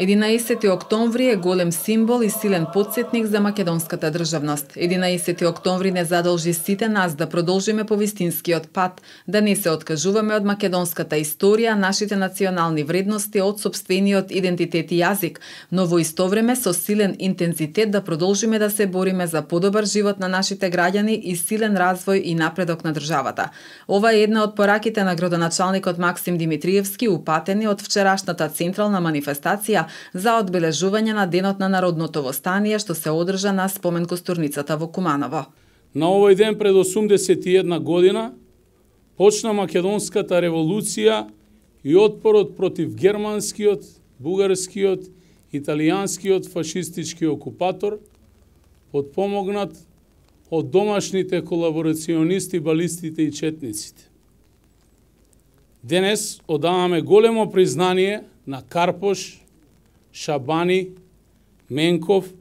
11 октомври е голем символ и силен потсетник за македонската државност. 11 октомври не задолжи сите нас да продолжиме по вистинскиот пат, да не се откажуваме од македонската историја, нашите национални вредности, од сопствениот идентитет и јазик, но во исто време со силен интензитет да продолжиме да се бориме за подобар живот на нашите граѓани и силен развој и напредок на државата. Ова е една од пораките на градоначалникот Максим Димитриевски, упатени од вчерашната централна манифестација за одбележување на Денот на народното востание што се одржа на спомен костурницата во Куманово. На овој ден пред 81 година почна македонската револуција и отпорот против германскиот, бугарскиот, италијанскиот фашистички окупатор, подпомогнат од домашните колаборационисти, балистите и четниците. Денес одаваме големо признание на Карпош, Шабани, Менков,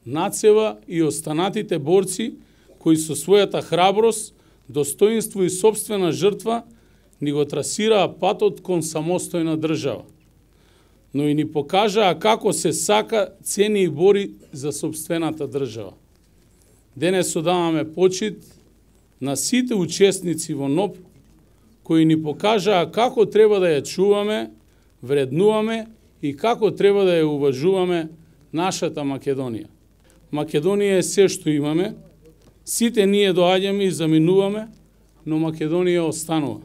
Нацева и останатите борци кои со својата храброст, достоинство и собствена жртва ни го трасираа патот кон самостојна држава, но и ни покажаа како се сака, цени и бори за собствената држава. Денес одаваме почит на сите учесници во НОБ кои ни покажаа како треба да ја чуваме, вреднуваме и како треба да ја уважуваме нашата Македонија. Македонија е се што имаме, сите ние доаѓаме и заминуваме, но Македонија останува.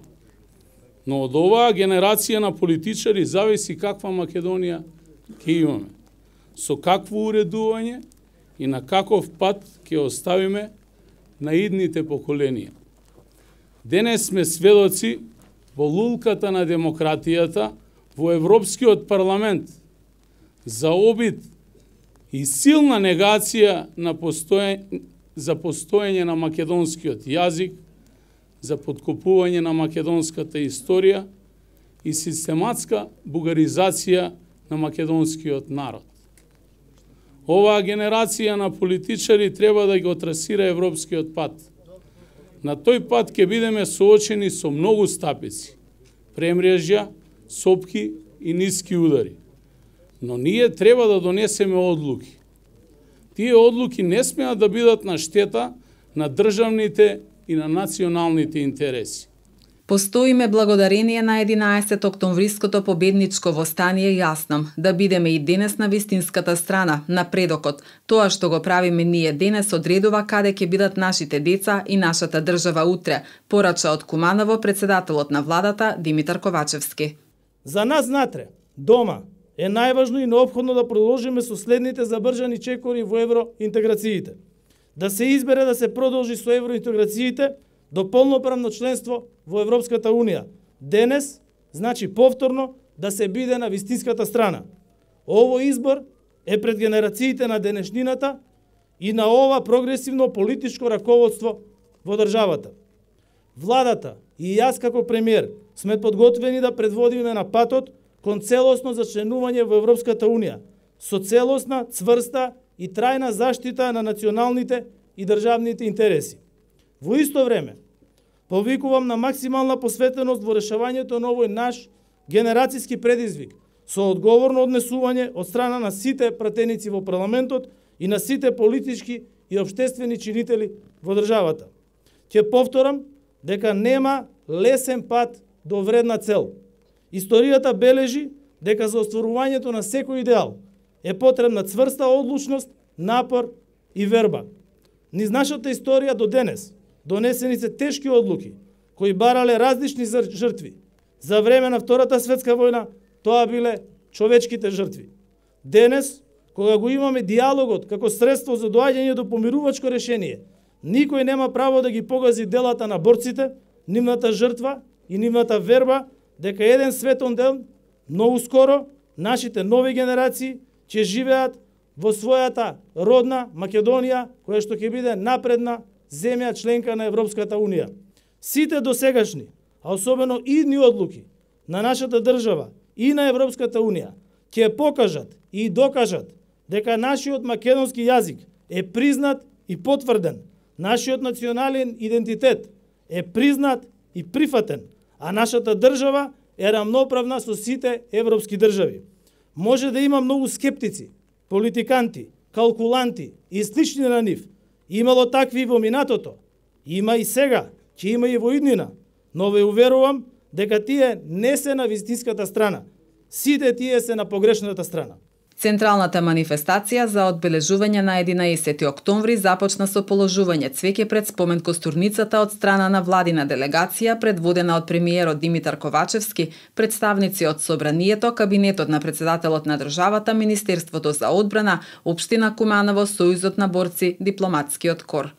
Но од оваа генерација на политичари зависи каква Македонија ќе имаме, со какво уредување и на каков пат ќе оставиме на идните поколенија. Денес сме сведоци во лулката на демократијата во Европскиот парламент за обид и силна негација за постоење на македонскиот јазик, за подкопување на македонската историја и систематска бугаризација на македонскиот народ. Оваа генерација на политичари треба да го трасира европскиот пат. На тој пат ќе бидеме соочени со многу стапици, премрежја, сопки и ниски удари. Но ние треба да донесеме одлуки. Тие одлуки не смеат да бидат на штета на државните и на националните интереси. Постоиме благодарение на 11 октомвриското победничко востание јасно, да бидеме и денес на вистинската страна, на предокот. Тоа што го правиме ние денес одредува каде ќе бидат нашите деца и нашата држава утре, порача од Куманово председателот на владата Димитар Ковачевски. За нас натре, дома, е најважно и неопходно да продолжиме со следните забржани чекори во евроинтеграциите. Да се избере да се продолжи со евроинтеграциите до полноправно членство во Европската Унија. Денес, значи повторно, да се биде на вистинската страна. Ово избор е пред генерациите на денешнината и на ова прогресивно политичко раководство во државата. Владата и јас како премиер сме подготвени да предводиме на патот кон целосно зачленување во Европската Унија, со целосна, цврста и трајна заштита на националните и државните интереси. Во исто време, повикувам на максимална посветеност во решавањето на овој наш генерацијски предизвик, со одговорно однесување од страна на сите пратеници во парламентот и на сите политички и општествени чинители во државата. Ќе повторам дека нема лесен пат до вредна цел. Историјата бележи дека за остварувањето на секој идеал е потребна цврста одлучност, напор и верба. Низ нашата историја до денес донесени се тешки одлуки кои барале различни жртви. За време на Втората светска војна тоа биле човечките жртви. Денес, кога го имаме диалогот како средство за доаѓање до помирувачко решение, никој нема право да ги погази делата на борците, нивната жртва и нивната верба дека еден светон ден, многу скоро, нашите нови генерации ќе живеат во својата родна Македонија, која што ќе биде напредна земја членка на Европската Унија. Сите досегашни, а особено идни одлуки на нашата држава и на Европската Унија ќе покажат и докажат дека нашиот македонски јазик е признат и потврден, нашиот национален идентитет е признат и прифатен, а нашата држава е рамноправна со сите европски држави. може да има многу скептици, политиканти, калкуланти и слични на нив. Имало такви во минатото, има и сега, ќе има и во иднина, но ве уверувам дека тие не се на вистинската страна. Сите тие се на погрешната страна. Централната манифестација за одбележување на 11 октомври започна со положување цвеќе пред спомен костурницата од страна на владина делегација предводена од премиерот Димитар Ковачевски, представници од Собранието, кабинетот на председателот на државата, Министерството за одбрана, општина Куманово, Сојузот на борци, дипломатскиот кор.